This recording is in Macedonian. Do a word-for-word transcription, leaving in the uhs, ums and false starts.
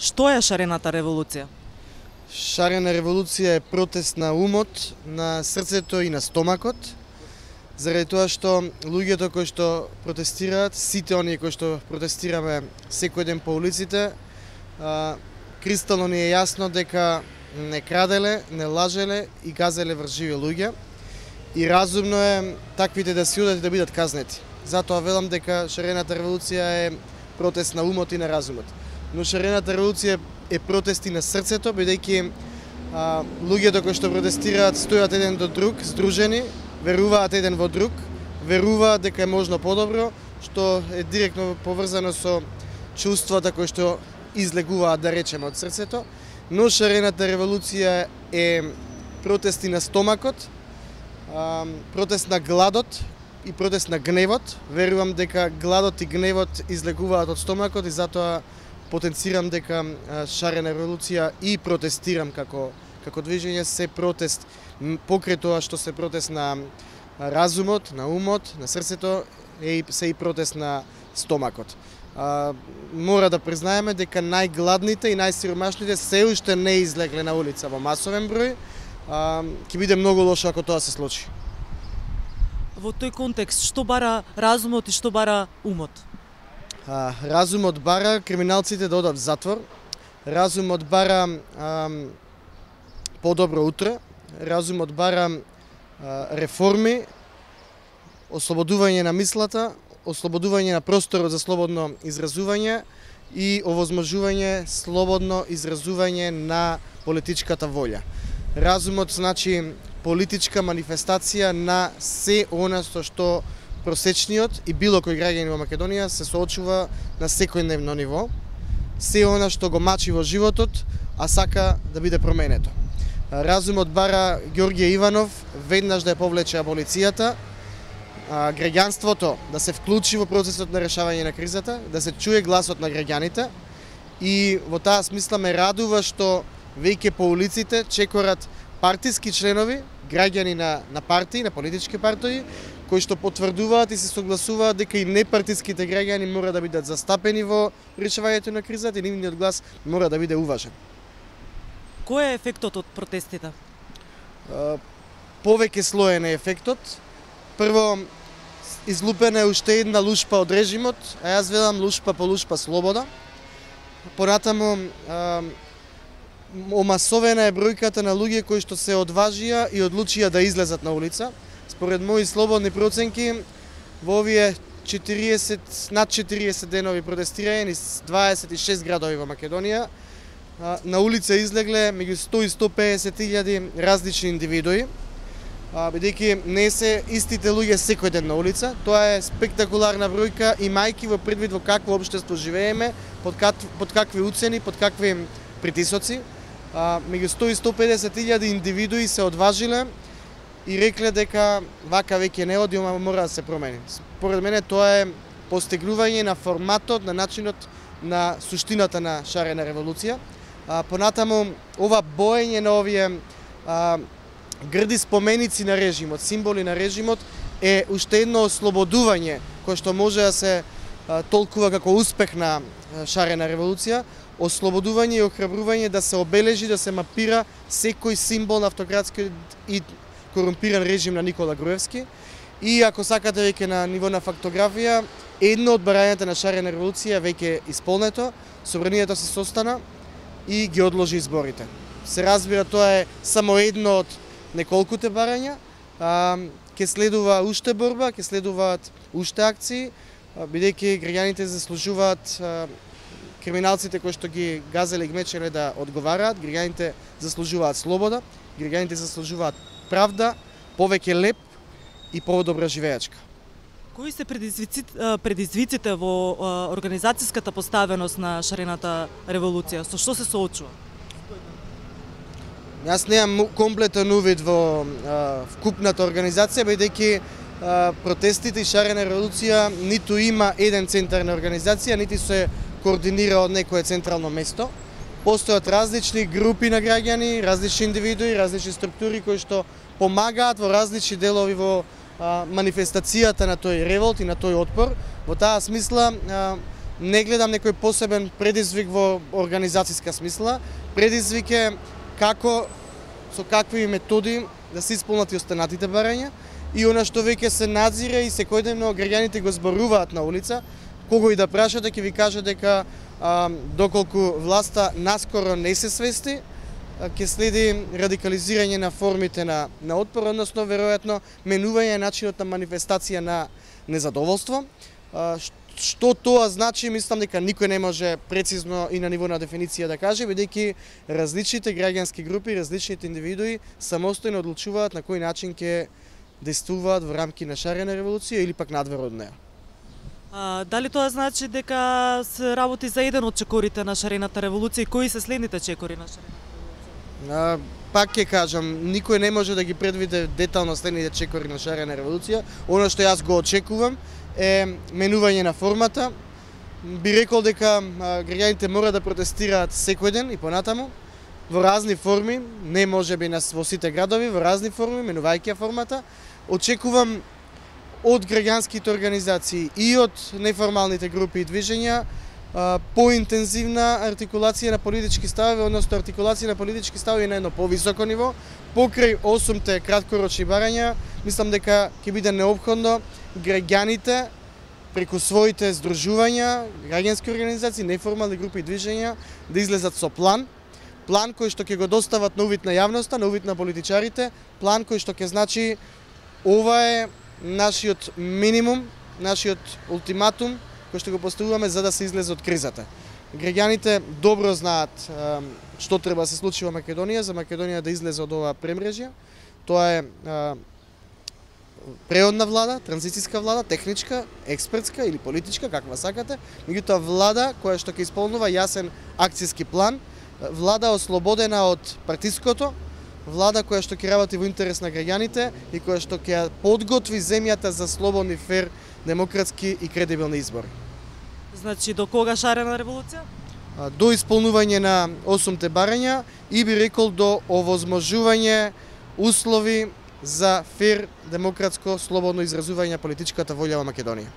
Што е шарената револуција? Шарена револуција е протест на умот, на срцето и на стомакот, заради тоа што луѓето кои што протестираат, сите оние кои што протестираме секој ден по улиците, кристално ни е јасно дека не краделе, не лажеле и газеле врз живи луѓе и разумно е таквите да си одат и да бидат казнети. Затоа велам дека шарената револуција е протест на умот и на разумот. Но шарената револуција е протест и на срцето, бидејќи луѓето кои што протестираат стојат еден до друг, здружени, веруваат еден во друг, веруваат дека е можно подобро, што е директно поврзано со чувствата кои што излегуваат, да речеме, од срцето. Но шарената револуција е протест и на стомакот, протест на гладот и протест на гневот. Верувам дека гладот и гневот излегуваат од стомакот и затоа потенцирам дека шарена револуција и протестирам како како движење се протест покрај тоа што се протест на разумот, на умот, на срцето, е и се и протест на стомакот. А, мора да признаеме дека најгладните и најсиромашните се уште не излегле на улица во масовен број. Ќе биде многу лошо ако тоа се случи. Во тој контекст, што бара разумот и што бара умот? А, разумот бара криминалците да одат в затвор, разумот бара а, подобро утре, разумот бара а, реформи, ослободување на мислата, ослободување на просторот за слободно изразување и овозможување слободно изразување на политичката волја. Разумот значи политичка манифестација на се она со што просечниот и било кој граѓанин во Македонија се соочува на секојдневно ниво, се она што го мачи во животот, а сака да биде променето. Разумот бара Ѓорѓе Иванов веднаш да ја повлече аболицијата, граѓанството да се вклучи во процесот на решавање на кризата, да се чуе гласот на граѓаните и во таа смисла ме радува што веќе по улиците чекорат партиски членови, граѓани на, на партии, на политички партии, кои што потврдуваат и се согласуваат дека и непартиските граѓани мора да бидат застапени во решавањето на кризата и нивниот глас мора да биде уважен. Кој е ефектот од протестите? Повеќе слоен е ефектот. Прво, излупена е уште една лушпа од режимот, а јас велам лушпа по лушпа слобода. Понатаму, омасовена е бројката на луѓе кои што се одважија и одлучија да излезат на улица. Според мои слободни проценки, во овие четириесет, над четириесет денови протестирање низ дваесет и шест градови во Македонија, на улица излегле меѓу сто и сто песет илјади различни индивидуи, бидејќи не се истите луѓе секој ден на улица. Тоа е спектакуларна бројка, имајќи во предвид во какво општество живееме, под, как, под какви уцени, под какви притисоци. Меѓу сто и сто педесет илјади индивидуи се одважиле и рекле дека вака веќе не оди, мора да се промени. Според мене тоа е постигнување на форматот, на начинот, на суштината на шарена револуција. А, понатаму, ова боење на овие а, грди споменици на режимот, символи на режимот, е уште едно ослободување кое што може да се а, толкува како успех на а, шарена револуција, ослободување и охрабрување да се обележи, да се мапира секој символ на автократски и корумпиран режим на Никола Груевски. И ако сакате веќе на ниво на фактографија, едно од барањата на шарена револуција веќе исполнето, собранието се состана и ги одложи изборите. Се разбира, тоа е само едно од неколкуте барања. Ке следува уште борба, ке следуваат уште акции, бидејќи граѓаните заслужуваат криминалците кои што ги газеле и гмечеле да одговараат, граѓаните заслужуваат слобода, граѓаните заслужуваат правда, повеќе леп и подобра живеачка. Кои се предизвиците, предизвиците во организацијската поставеност на шарената револуција? Со што се соочува? Јас немам комплетен увид во вкупната организација, бидејќи протестите и шарена револуција ниту има еден центар на организација, нити се координира од некое централно место. Постојат различни групи на граѓани, различни индивидуи, различни структури кои што помагаат во различни делови во а, манифестацијата на тој револт и на тој отпор. Во таа смисла а, не гледам некој посебен предизвик во организацијска смисла. Предизвик е како, со какви методи да се исполнат и останатите барања и она што веќе се надзира и секојдневно граѓаните го зборуваат на улица. Кого и да прашате, ќе ви каже дека а, доколку власта наскоро не се свести, ќе следи радикализирање на формите на, на отпор, односно веројатно менување начинот на манифестација на незадоволство. А, што тоа значи, мислам дека никој не може прецизно и на ниво на дефиниција да каже, бидејќи различните граѓански групи, различните индивидуи самостојно одлучуваат на кој начин ќе действуваат во рамки на шарена револуција или пак надвор од неа. А, дали тоа значи дека се работи за еден од чекорите на шарената револуција и кои се следните чекори на шарената револуција? А, пак ќе кажам, никој не може да ги предвиде детално следните чекори на шарена револуција. Оно што јас го очекувам е менување на формата. Би рекол дека граѓаните мора да протестираат секој ден и понатаму во разни форми, не можеби во сите градови, во разни форми, менувајќи формата. Очекувам од граѓанските организации и од неформалните групи и движења поинтензивна артикулација на политички ставови, односно артикулација на политички ставови на едно повисоко ниво, покрај осумте краткорочни барања. Мислам дека ќе биде неопходно граѓаните преку своите здружувања, граѓански организации, неформални групи и движења да излезат со план, план кој што ќе го достават на увид на јавноста, на увид на политичарите, план кој што ќе значи ова е нашиот минимум, нашиот ултиматум кој што го поставуваме за да се излезе од кризата. Граѓаните добро знаат што треба да се случи во Македонија, за Македонија да излезе од оваа премрежја. Тоа е преодна влада, транзицијска влада, техничка, експертска или политичка, каква сакате, меѓутоа влада која што ќе исполнува јасен акцијски план, влада ослободена од партиското, влада која што ќе работи во интерес на граѓаните и која што ќе подготви земјата за слободни, фер, демократски и кредибилни избори. Значи до кога шарена револуција? До исполнување на осумте барања и би рекол до овозможување услови за фер, демократско, слободно изразување на политичката волја во Македонија.